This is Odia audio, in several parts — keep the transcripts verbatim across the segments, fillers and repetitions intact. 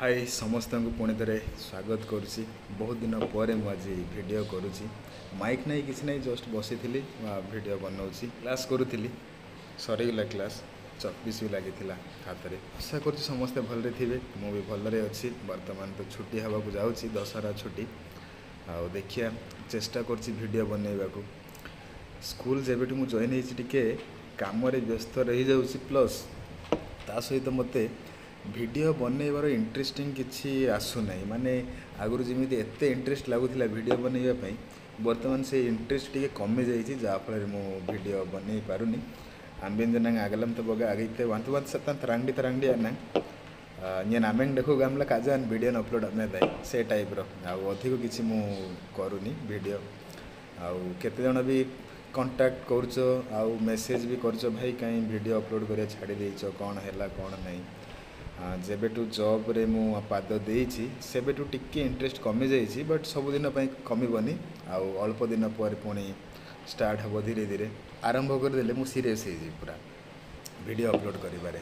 ହାଇ, ସମସ୍ତଙ୍କୁ ପୁଣି ଥରେ ସ୍ୱାଗତ କରୁଛି। ବହୁତ ଦିନ ପରେ ମୁଁ ଆଜି ଭିଡ଼ିଓ କରୁଛି। ମାଇକ୍ ନାହିଁ, କିଛି ନାହିଁ, ଜଷ୍ଟ ବସିଥିଲି, ଭିଡ଼ିଓ ବନାଉଛି। କ୍ଲାସ୍ କରୁଥିଲି, ସରିଗଲା କ୍ଲାସ୍। ଚକପିସ୍ ବି ଲାଗିଥିଲା ହାତରେ। ଆଶା କରୁଛି ସମସ୍ତେ ଭଲରେ ଥିବେ। ମୁଁ ବି ଭଲରେ ଅଛି। ବର୍ତ୍ତମାନ ତ ଛୁଟି ହେବାକୁ ଯାଉଛି, ଦଶହରା ଛୁଟି। ଆଉ ଦେଖିବା, ଚେଷ୍ଟା କରୁଛି ଭିଡ଼ିଓ ବନେଇବାକୁ। ସ୍କୁଲ ଯେବେଠୁ ମୁଁ ଜଏନ୍ ହେଇଛି, ଟିକେ କାମରେ ବ୍ୟସ୍ତ ରହିଯାଉଛି। ପ୍ଲସ୍ ତା ସହିତ ମୋତେ ଭିଡ଼ିଓ ବନେଇବାର ଇଣ୍ଟରେଷ୍ଟିଂ କିଛି ଆସୁନାହିଁ। ମାନେ ଆଗରୁ ଯେମିତି ଏତେ ଇଣ୍ଟରେଷ୍ଟ ଲାଗୁଥିଲା ଭିଡ଼ିଓ ବନେଇବା ପାଇଁ, ବର୍ତ୍ତମାନ ସେ ଇଣ୍ଟରେଷ୍ଟ ଟିକେ କମିଯାଇଛି, ଯାହାଫଳରେ ମୁଁ ଭିଡ଼ିଓ ବନେଇ ପାରୁନି। ଆମ୍ବିଞ୍ଜନାଙ୍ଗ ಆಗಲಂ ತಬೋಗ ಆಗೈತೆ ವಂತ ವಂತ ಸತ್ತಂತ ತರಂಗಡಿ ತರಂಗಡಿ ಅನ್ನ నేను ଆମେଙ୍ଗ ଦେଖୁ ଗାମଲା କାଜାନ ଭିଡ଼ିଓ ଅପଲୋଡ଼ ଆମେ ଦାଇ ସେ ଟାଇପ୍ର। ଆଉ ଅଧିକ କିଛି ମୁଁ କରୁନି ଭିଡ଼ିଓ। ଆଉ କେତେଜଣ ବି କଣ୍ଟାକ୍ଟ କରୁଛ ଆଉ ମେସେଜ୍ ବି କରୁଛ, ଭାଇ, କାହିଁ ଭିଡ଼ିଓ ଅପଲୋଡ଼ କରିବା ଛାଡ଼ି ଦେଇଛ, କ'ଣ ହେଲା, କ'ଣ ନାହିଁ? ଯେବେଠୁ ଜବ୍ରେ ମୁଁ ପାଦ ଦେଇଛି, ସେବେଠୁ ଟିକେ ଇଣ୍ଟରେଷ୍ଟ କମିଯାଇଛି। ବଟ୍ ସବୁଦିନ ପାଇଁ କମିବନି। ଆଉ ଅଳ୍ପ ଦିନ ପରେ ପୁଣି ଷ୍ଟାର୍ଟ ହେବ। ଧୀରେ ଧୀରେ ଆରମ୍ଭ କରିଦେଲେ ମୁଁ ସିରିୟସ୍ ହେଇଯିବି ପୁରା ଭିଡ଼ିଓ ଅପଲୋଡ଼ କରିବାରେ।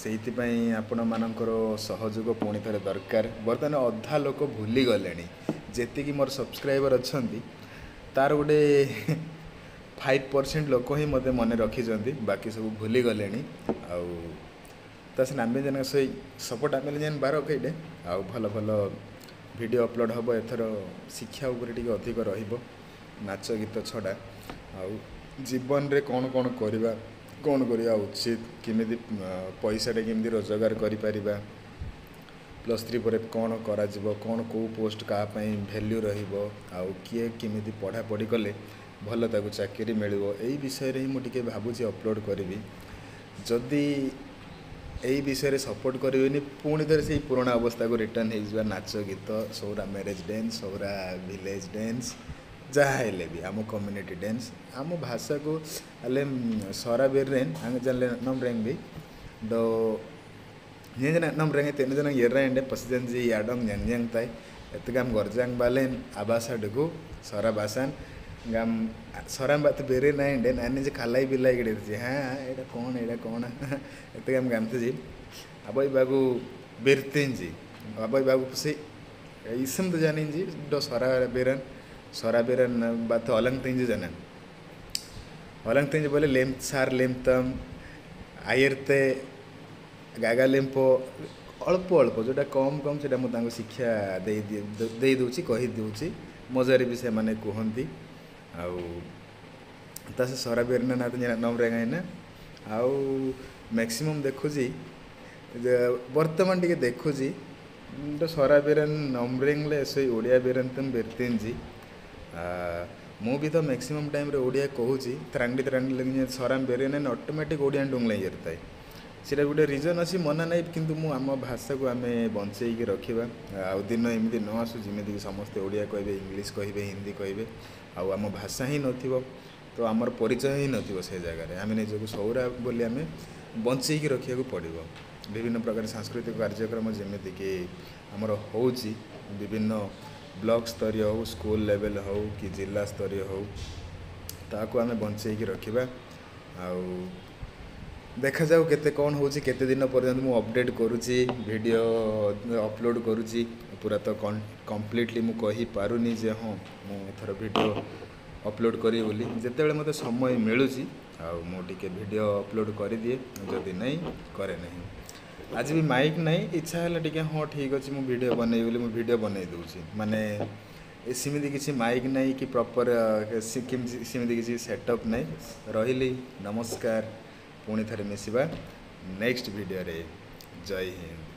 ସେଇଥିପାଇଁ ଆପଣମାନଙ୍କର ସହଯୋଗ ପୁଣି ଥରେ ଦରକାର। ବର୍ତ୍ତମାନ ଅଧା ଲୋକ ଭୁଲିଗଲେଣି। ଯେତିକି ମୋର ସବସ୍କ୍ରାଇବର୍ ଅଛନ୍ତି, ତାର ଗୋଟେ ଫାଇଭ୍ ପରସେଣ୍ଟ ଲୋକ ହିଁ ମୋତେ ମନେ ରଖିଛନ୍ତି, ବାକି ସବୁ ଭୁଲିଗଲେଣି। ଆଉ ତା ସେ ନାମେ ଜଣ ସେଇ ସପୋର୍ଟ ଆମେ ଯେନ୍ ବାର କହିଲେ। ଆଉ ଭଲ ଭଲ ଭିଡ଼ିଓ ଅପଲୋଡ଼ ହେବ। ଏଥର ଶିକ୍ଷା ଉପରେ ଟିକେ ଅଧିକ ରହିବ, ନାଚ ଗୀତ ଛଡ଼ା। ଆଉ ଜୀବନରେ କ'ଣ କ'ଣ କରିବା, କ'ଣ କରିବା ଉଚିତ, କେମିତି ପଇସାଟା କେମିତି ରୋଜଗାର କରିପାରିବା, ପ୍ଲସ୍ ଥ୍ରୀ ପରେ କ'ଣ କରାଯିବ, କ'ଣ କେଉଁ ପୋଷ୍ଟ କାହା ପାଇଁ ଭ୍ୟାଲ୍ୟୁ ରହିବ, ଆଉ କିଏ କେମିତି ପଢ଼ାପଢ଼ି କଲେ ଭଲ ତାକୁ ଚାକିରି ମିଳିବ, ଏଇ ବିଷୟରେ ହିଁ ମୁଁ ଟିକେ ଭାବୁଛି ଅପଲୋଡ଼ କରିବି। ଯଦି ଏଇ ବିଷୟରେ ସପୋର୍ଟ କରିବେନି, ପୁଣି ଥରେ ସେଇ ପୁରୁଣା ଅବସ୍ଥାକୁ ରିଟର୍ଣ୍ଣ ହେଇଯିବା। ନାଚ ଗୀତ, Soura marriage dance, Soura village dance, ଯାହା ହେଲେ ବି ଆମ କମ୍ୟୁନିଟି ଡ୍ୟାନ୍ସ, ଆମ ଭାଷାକୁ ହେଲେ ସରା ବେର୍ରେନ୍ ଜାଣିଲେ ନମ୍ ବି do nyen nam reng te njen yerra ende pasijan ji yadong nyang nyang tai etgam gorjang balen abasa dugu sora basan gam soram bat bere na ende nane je khalai bilai gede ji ha eta kon eta kon etgam gamte ji aboy bagu berten ji aboy bagu se isam to janin ji do sora beran sora beran bat alang tenji janan alang tenji bole lem sar lemtam ayerte Gaga ଲେମ୍ପୋ। ଅଳ୍ପ ଅଳ୍ପ ଯେଉଁଟା କମ୍ କମ୍, ସେଇଟା ମୁଁ ତାଙ୍କୁ ଶିକ୍ଷା ଦେଇ ଦେଇ ଦେଉଛି, କହିଦେଉଛି। ମଜାରେ ବି ସେମାନେ କୁହନ୍ତି। ଆଉ ତା ସେ ସରା ବେରିନା ନା ନମ୍ରେ ନା। ଆଉ ମ୍ୟାକ୍ସିମମ୍ ଦେଖୁଛି ଯେ ବର୍ତ୍ତମାନ ଟିକେ ଦେଖୁଛି ତ ସରା ବେରନ୍ ନମ୍ରେଙ୍ଗଲେ ସେଇ ଓଡ଼ିଆ ବେରନ୍ ତମ ବେରତେଞ୍ଜି। ମୁଁ ବି ତ ମ୍ୟାକ୍ସିମମ୍ ଟାଇମ୍ରେ ଓଡ଼ିଆ କହୁଛି। ତ୍ରାଙ୍ଗଡ଼ି ତ୍ରାଙ୍ଗଡ଼ି ସରାମ ବେରେନ୍ ଅଟୋମେଟିକ୍ ଓଡ଼ିଆ ଡୁଙ୍ଗଲା ଥାଏ। ସେଇଟା ଗୋଟେ ରିଜନ୍ ଅଛି, ମନା ନାହିଁ। କିନ୍ତୁ ମୁଁ ଆମ ଭାଷାକୁ ଆମେ ବଞ୍ଚେଇକି ରଖିବା। ଆଉ ଦିନ ଏମିତି ନ ଆସୁ ଯେମିତିକି ସମସ୍ତେ ଓଡ଼ିଆ କହିବେ, ଇଂଲିଶ କହିବେ, ହିନ୍ଦୀ କହିବେ, ଆଉ ଆମ ଭାଷା ହିଁ ନଥିବ, ତ ଆମର ପରିଚୟ ହିଁ ନଥିବ ସେ ଜାଗାରେ। ଆମେ ନିଜକୁ ସୌରା ବୋଲି ଆମେ ବଞ୍ଚେଇକି ରଖିବାକୁ ପଡ଼ିବ। ବିଭିନ୍ନ ପ୍ରକାର ସାଂସ୍କୃତିକ କାର୍ଯ୍ୟକ୍ରମ ଯେମିତିକି ଆମର ହେଉଛି, ବିଭିନ୍ନ ବ୍ଲକ ସ୍ତରୀୟ ହେଉ, ସ୍କୁଲ ଲେଭେଲ୍ ହେଉ କି ଜିଲ୍ଲା ସ୍ତରୀୟ ହେଉ, ତାକୁ ଆମେ ବଞ୍ଚେଇକି ରଖିବା। ଆଉ ଦେଖାଯାଉ କେତେ କ'ଣ ହେଉଛି, କେତେ ଦିନ ପର୍ଯ୍ୟନ୍ତ ମୁଁ ଅପଡ଼େଟ୍ କରୁଛି, ଭିଡ଼ିଓ ଅପଲୋଡ଼ କରୁଛି। ପୁରା ତ କମ୍ପ୍ଲିଟଲି ମୁଁ କହିପାରୁନି ଯେ ହଁ, ମୁଁ ଏଥର ଭିଡ଼ିଓ ଅପଲୋଡ଼ କରିବି ବୋଲି। ଯେତେବେଳେ ମୋତେ ସମୟ ମିଳୁଛି ଆଉ ମୁଁ ଟିକେ ଭିଡ଼ିଓ ଅପଲୋଡ଼ କରିଦିଏ, ଯଦି ନାହିଁ କରେ ନାହିଁ। ଆଜି ବି ମାଇକ୍ ନାହିଁ, ଇଚ୍ଛା ହେଲା ଟିକେ, ହଁ ଠିକ୍ ଅଛି, ମୁଁ ଭିଡ଼ିଓ ବନେଇବି ବୋଲି ମୁଁ ଭିଡ଼ିଓ ବନେଇ ଦେଉଛି। ମାନେ ସେମିତି କିଛି ମାଇକ୍ ନାହିଁ କି ପ୍ରପର୍ ସେମିତି କିଛି ସେଟଅପ୍ ନାହିଁ। ରହିଲି, ନମସ୍କାର। ପୁଣି ଥରେ ମିଶିବା ନେକ୍ସଟ ଭିଡ଼ିଓରେ। ଜୟ ହିନ୍ଦ।